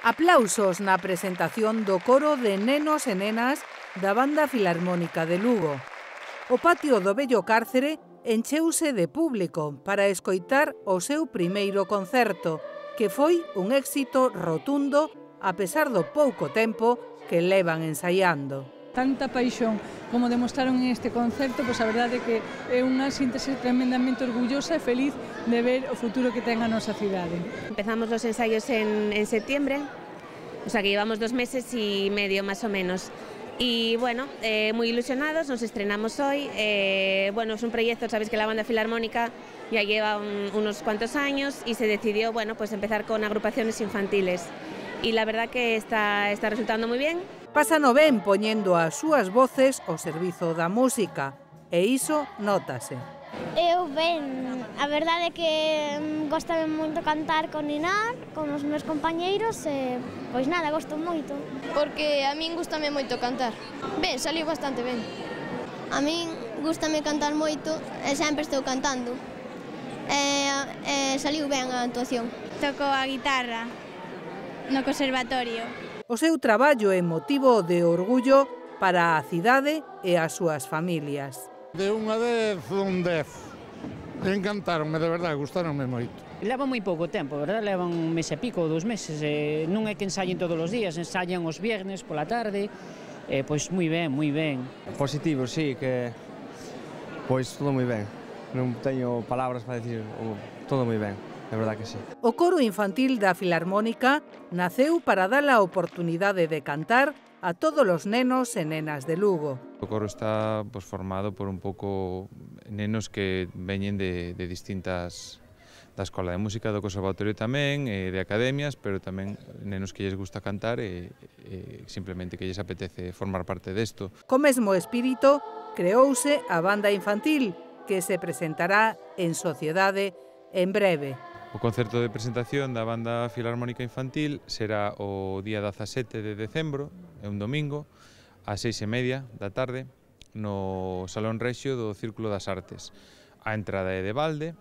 Aplausos na presentación do coro de nenos e nenas da Banda Filarmónica de Lugo. O patio do vello cárcere encheuse de público para escoitar o seu primeiro concerto, que foi un éxito rotundo a pesar do pouco tempo que levan ensaiando. Tanta paixón como demostraron en este concerto, pois a verdade é que é unha síntese tremendamente orgullosa e feliz de ver o futuro que ten a nosa cidade. Empezamos los ensayos en septiembre, o sea que llevamos 2 meses y medio más o menos. Y bueno, muy ilusionados, nos estrenamos hoy. Bueno, es un proyecto, sabéis que la Banda Filarmónica ya lleva unos cuantos años y se decidió, bueno, pues empezar con agrupaciones infantiles. Y la verdad que está resultando muy bien. Pásano ben poñendo as súas voces ao servizo da música, e iso nótase. Eu ben, a verdade é que gostame moito cantar con Inar, con os meus compañeiros e, pois nada, gosto moito. Porque a min gustame moito cantar. Ben, saliu bastante ben. A min gustame cantar moito e sempre estou cantando. Saliu ben a actuación. Toco a guitarra no conservatorio. O seu traballo é motivo de orgullo para a cidade e as súas familias. De 1 a 10, un 10. Encantaronme, de verdade, gustaronme moito. Leva moi pouco tempo, verdad? Levan un mes e pico, 2 meses. Non é que ensayen todos os días, ensayan os viernes pola tarde. Pois moi ben, moi ben. Positivo, sí, que... Pois todo moi ben. Non teño palabras para dicir, todo moi ben. De verdad que sí. O coro infantil da Filarmónica naceu para dar a oportunidade de cantar a todos os nenos e nenas de Lugo. O coro está formado por un pouco nenos que veñen de distintas da Escola de Música, do Conservatorio tamén, de academias, pero tamén nenos que lles gusta cantar e simplemente que lles apetece formar parte desto. Co mesmo espírito, creouse a banda infantil, que se presentará en sociedade en breve. O concerto de presentación da Banda Filarmónica Infantil será o día 17 de decembro, é un domingo, ás 6:30 da tarde, no Salón Rexio do Círculo das Artes. A entrada é de balde.